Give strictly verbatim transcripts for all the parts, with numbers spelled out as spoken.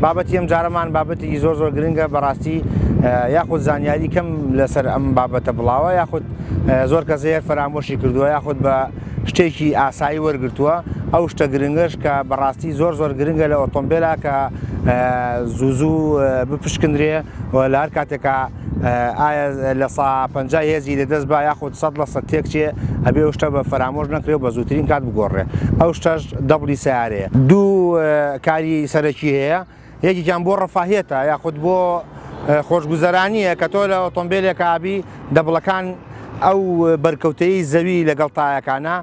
بابەتی ئەم جارەمان بابەتێکی زۆر زۆر گرنگە بەڕاستی، یاخود زانیاری کەم لەسەر ئەم بابەتە بڵاوە، یاخود زۆر کەس هەیە فەرامۆشی کردووە، یاخود بە شتێکی ئاسایی وەرگرتووە. ئەو شتە گرنگەش کە بەڕاستی زۆر زۆر گرنگە لە ئۆتۆمبیلە کە زوو زوو بپشکندرێ و لە هەر کاتێکە ئایا لە سا پەنجا هێزی لەدەست با یاخود سەد لە سەد تێکچێ، ئەبێ ئەو شتە بە فەرامۆش نەکرێ و بە زووترین کات بگۆڕێ. ئەو شتەش دەبڵی سیارەیە. دوو کاری سەرەکی هەیە، یەکێکیان بۆ ڕەفاهیەتە یاخود بۆ خۆشگوزەرانیە کە تۆ لە ئۆتۆمبیلێکە ئابی دەبڵەکان ئەو بەرکەوتەی زەوی لەگەڵ تایەکانە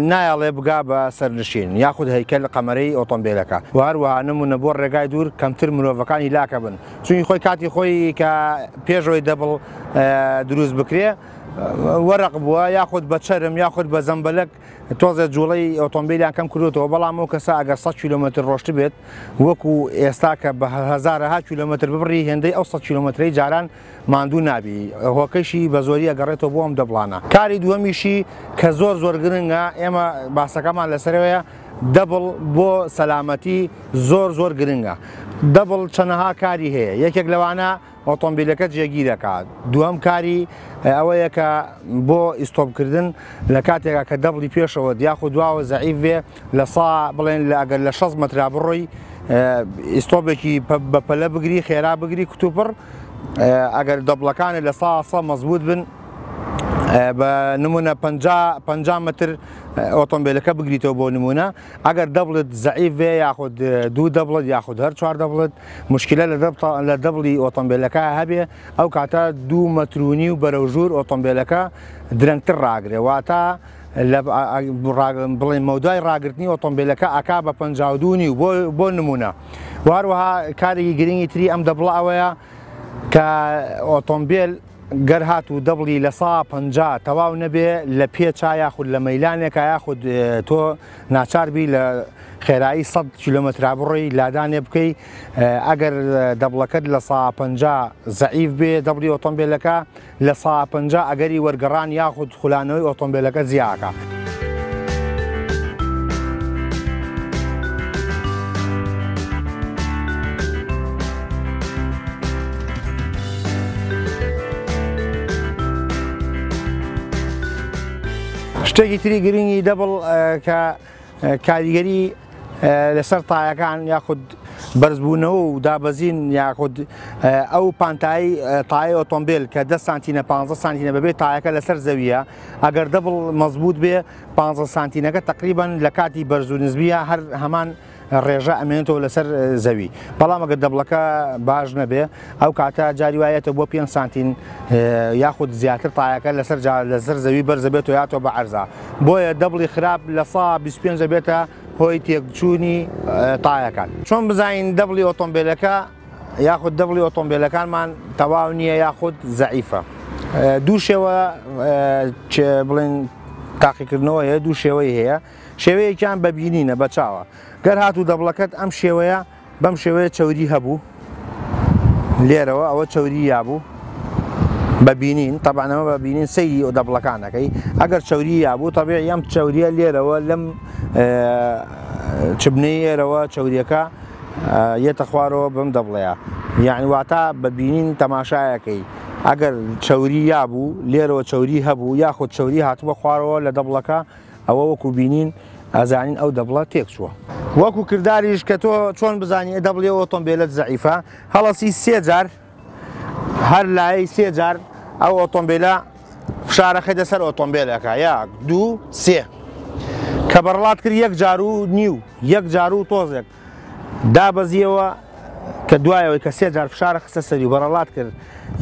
نایەڵێ بگا بە سەرنشین یاخود هەیکەل قەمەرەی ئۆتۆمبیلەکە. و هەروەها نمونە بۆ ڕێگای دوور کەمتر مرۆڤەکانی لاکە بن، چونی خۆی کاتی خۆی کە پێشەوەی دەبڵ دروست بکرێ وەرەق بووە یاخود بە چەرم یاخود بە زەمبەلەک تۆزێ جوڵەی ئۆتۆمبیلیان کەم کردوتەوە. بەڵام ئەو کەسە ئەگەر سەد کیلۆمەتر ڕۆشت بێت وەکو ئێستا کە بە هەزارەها کیلۆمەتر ببڕی هێندەی ئەو سەد کیلۆمەترەی جاران ماندوو نابی، هۆکەشی بە زۆری ئەگەڕێتەوە بۆ ئەم دەبڵانە. کاری دووەمیشی کە زۆر زۆر گرنگە، ئێمە باسەکەمان لەسەرەوەیە، دەبڵ بۆ سەلامەتی زۆر زۆر گرنگە. دەبڵ چەنەها کاری هەیە، یەکێک لەوانە ئۆتۆمبیلەکە جێگیرەکات. دووەم کاری ئەوەیە کە بۆ ئیستۆپکردن لە کاتێکا کە دەبڵی پێشەوە یاخود دواوە زەعیف بێ لە سا بڵێن لە ئەگەر لە شەست مەترا بڕۆی ئیستۆپێکی بە پەلە بگری، خێرا بگری کتوپڕ، ئەگەر دەبڵەکانت لە سا سە مەزبوط بن بە نمونە پەنجا مەتر ئۆتۆمبیلەکە بگریتەوە بۆ نمونە. ئەگەر دەبڵت زەعیف بێ یاخود دوو دەبڵت یاخود هەر چوار دەبڵت مشکلە لە دەبڵی ئۆتۆمبیلەکە هەبێ، ئەو کاتە دوو مەترونی و بەرەو ژوور ئۆتۆمبیلەکە درەنگتر ڕاگرێ، واتە بڵێن مەودای ڕاگرتنی ئۆتۆمبیلەکە ئەکا بە پەنجا و دوو نیو بۆ نمونە. و هەروەها کارێکی گرنگی تری ئەم دەبڵە ئەوەیە کە ئۆتۆمبیل گەر هات و دەبڵی لە سا پەنجا تەواو نەبێ لە پێچا یاخود لە مەیلانێکا یاخود تۆ ناچار بی لە خێرایی سەد کیلۆمەترا بڕۆی لادانێ بکەی، ئەگەر دەبڵەکەت لە سا پەنجا زەعیف بێ دەبڵی ئۆتۆمبیلەکە لە سا پەنجا ئەگەری وەرگەڕان یاخود خولانەوەی ئۆتۆمبیلەکە زیاکە. شتێکی تری گرنگی دەبڵ کە کاریگەری لەسەر تایەکان یاخود بەرزبوونەوە و دابەزین یاخود ئەو پانتایی تایەی ئۆتۆمبیل کە دە سانتینە پانزە سانتینە بەبێ تایەکە لەسەر زەویە، ئەگەر دەبڵ مەزبوط بێ پانزە سانتینەکە تقریبا لە کاتی بەرز و نزمیە هەر هەمان ڕێژە ئەمێنێتەوە لەسەر زەوی. بەڵام ئەگەر دەبڵەکە باش نەبێ ئەو کاتە جاری وایەتە بۆ پێنج سانتین یاخود زیاتر تایەکە لەسەر لەسەر زەوی بەرزە بێتەوە یاتەوە بە عەرزا. بۆیە دەبڵی خراپ لە سا بیست و پێنج بێتە هۆی تێکچوونی تایەکان. چۆن بزانین دەبڵی ئۆتۆمبیلەکە یاخود دەبڵی ئۆتۆمبیلەکانمان تەواو نییە یاخود زەعیفە؟ دوو شێوە بڵێن تاقیکردنەوە هەیە، دوو شێوەی هەیە. شێوەیەکیان بەبینینە بە چاوە، گەر هاتوو دەبڵەکەت ئەم شێوەیە بەم شێوەیە چەوری هەبوو لێرەوە، ئەوە چەوری یابوو بەبینین، طبعاً ئەمە بەبینین سەیری دەبڵەکانەکەی. ئەگەر چەوری یابوو طبیعی ئەم چەوریە لێرەوە لەم چبنەی ئێرەوە چەوریەکە یەتە خوارەوە بەم دەبڵەیە، یعنی واتە بەبینین تەماشایەکەی. ئەگەر چەوری یابوو لێرەوە چەوری هەبوو یاخود چەوری هاتووە خوارەوە لە دەبڵەکە، ئەوە وەکو بینین ئەزانین ئەو دەبڵە تێک چووە. وەکو کرداریش کە تۆ چۆن بزانی دەبڵی ئۆتۆمبیلت زەعیفە، هەڵەسی سێ جار هەر لایەی سێ جار ئەو ئۆتۆمبیلە فشارەخەیتە سەر ئۆتۆمبیلەکە، یەک دوو سێ، کە بەڕڵات کرد یەک جار و نیو یەک جار و تۆزێک دابەزیەوە، کە دوایەوەی کە سێ جار فشارە خستە سەری و بەڕەڵات کرد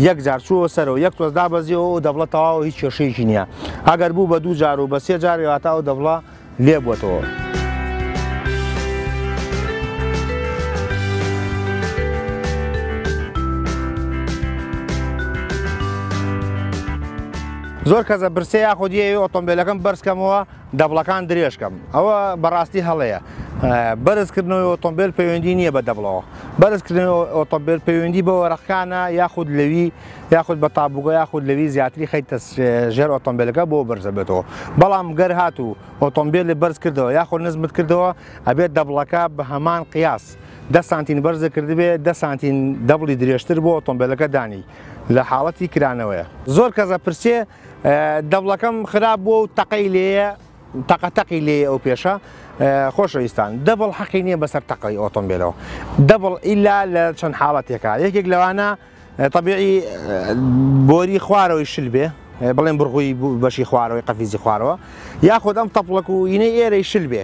یەک جار چووە سەرەوە یەک تۆز دابەزیەوە و دەبڵە تەواو هیچ کێشەیەکی نییە. ئەگەر بوو بە دوو جار و بە سێ جار واتە ئەو دەبڵە لێ بووەتەوە. زۆر کەسە برسێ یاخود یەوێ ئۆتۆمبیلەکەم بەرزکەمەوە دەبڵەکان درێژکەم، ئەوە بەڕاستی هەڵەیە. بەرزکردنەوەی ئۆتۆمبیل پەیوەندی نییە بە دەبڵەوە، بەرزکردنەوەی ئۆتۆمبیل پەیوەندی بە وەرەقەکانە یاخود لەوی یاخود بە تابووگە یاخود لەوی زیاتری خەیتە ژێر ئۆتۆمبیلەکە بۆ بەرزە بێتەوە. بەڵام گەر هاتوو ئۆتۆمبیلی بەرز کردەوە یاخود نزمت کردەوە ئەبێت دەبڵەکە بە هەمان قیاس دە سانتین بەرزە کردبێ دە سانتین دەبڵی درێژتر بۆ ئۆتۆمبیلەکە دانی لە حاڵەتی کرانەوەیە. زۆر کەسە پرسێ دەبڵەکەم خراپ بووە و تەقەی لێیە، تەقەتەقی لێیە ئەو پێشە. خۆشەویستان دەبڵ حەقی نییە بەسەر تەقەی ئۆتۆمبیلەوە، دەبڵ ئیلا لە چەند حاڵەتێکە. یەکێک لەوانە طبیعی بۆری خوارەوەی شل بێ، بڵێن بڕغوی بەشی خوارەوەی قەفیزی خوارەوە، یاخود ئەم تەپڵەک و ئینەی ئێرەی شل بێ،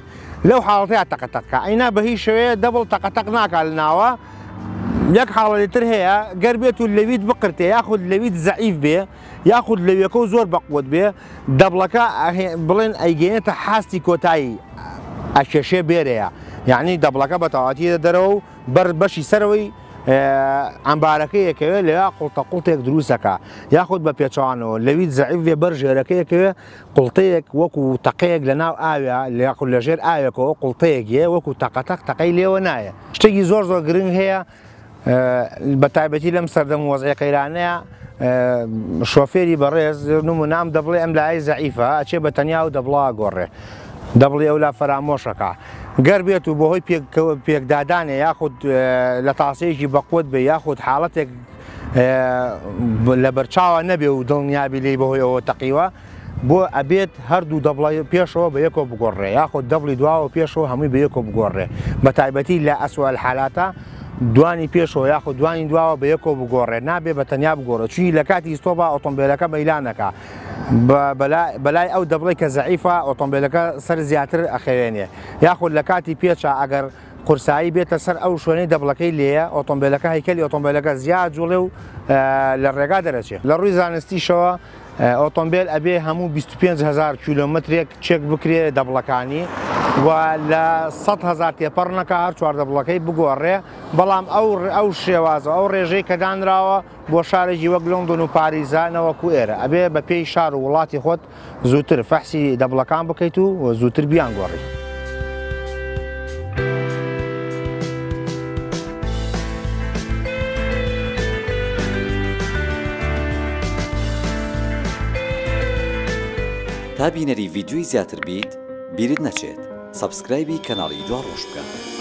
لەو حاڵەتەیە تەقەتەقکە. ئەینا بە هیچ شێوەیە دەبڵ تەقەتەق ناکا لە ناوە. یەک حاڵەتی تر هەیە گەر بێت و لەویت بقرتێ یاخود لەویت زەعیف بێ یاخود لەویەکە و زۆر بەقوت بێ، دەبڵەکە بڵێن ئەیگەیەنێتە حاستی کۆتایی ئەکێشێ بێرەیە، یعنی دەبڵەکە بە تەواوەتی دەرەوە و بەر بەشی سەرەوەی ئەمبارەکە یەکەوێ لەوێ قوڵتە قوڵتێک دروستەکە، یاخود بە پێچوانەوە لەویت زەعیف بێ بەر ژێرەکە یەکەوێ قوڵتەیەک وەکو تەقەیەک لە ناو ئاوێ یاخود لە ژێر ئاوێکەوە قوڵتەیەک یە وەکو تەقەتەق تەقەی لێوە نایە. شتێکی زۆر زۆر گرنگ هەیە بە تایبەتی لەم سەردەم وەزعی قەیرانەیە، شۆفێری بەڕێز نمونام دەبڵێ ئەم لای زەعیفە ئەچێ بە تەنیا و دەبڵا گۆڕێ، دەبڵێ ئەو لا فەرامۆشەکە. گەر بێت و بەهۆی پێکدادانێ یاخود لە تاسەیەکی بەقوت بێ یاخود حاڵەتێک لە بەرچاوە نەبێ و دڵنیابی لێی بەهۆی ئەوە تەقیوە، بۆ ئەبێت هەردوو دەبڵی پێشەوە بە یەکۆ بگۆڕێ یاخود دەبڵی دواوە پێشەوە هەمووی بە یەکۆ بگۆڕێ. بە تایبەتی لە ئەسوء الحالاتە دوانی پێشەوە یاخود دوانی دواوە بە یەکۆ بگۆڕێ، نابێ بە تەنیا بگۆڕێ، چونی لە کاتی ئیستۆبا ئۆتۆمبیلەکە مەیلانەکە بەلای ئەو دەبڵێ کە زەعیفە ئۆتۆمبیلەکە سەر زیاتر ئەخەوێنێ، یاخود لە کاتی پێچە ئەگەر قورسایی بێتە سەر ئەو شوێنەی دەبڵەکەی لێیە ئۆتۆمبیلەکە هەیکەلی ئۆتۆمبیلەکە زیاد جوڵێ و لە ڕێگا دەرەچێ. لە ڕووی زانستیشەوە ئۆتۆمبیل ئەبێ هەموو بیست و پێنج هەزار کیلۆمەترێک چێک بکرێ دەبڵەکانی و لە سەد هەزار تێپەڕ نەکا هەر چوار دەبڵەکەی بگۆڕێ، بەڵام ئەو ئەو شێوازە ئەو ڕێژەی کە دانراوە بۆ شارێکی وەک لۆندۆن و پاریزا نەوەکو ئێرە ئەبێ بە پێی شار و وڵاتی خۆت زووتر فەحسی دەبڵەکان بکەیت و زووتر بیانگۆڕی. تا بینەری ڤیدیۆی زیاتر بیت بیرت نەچێت subscribe ی کەناڵی دواڕۆژ بکە.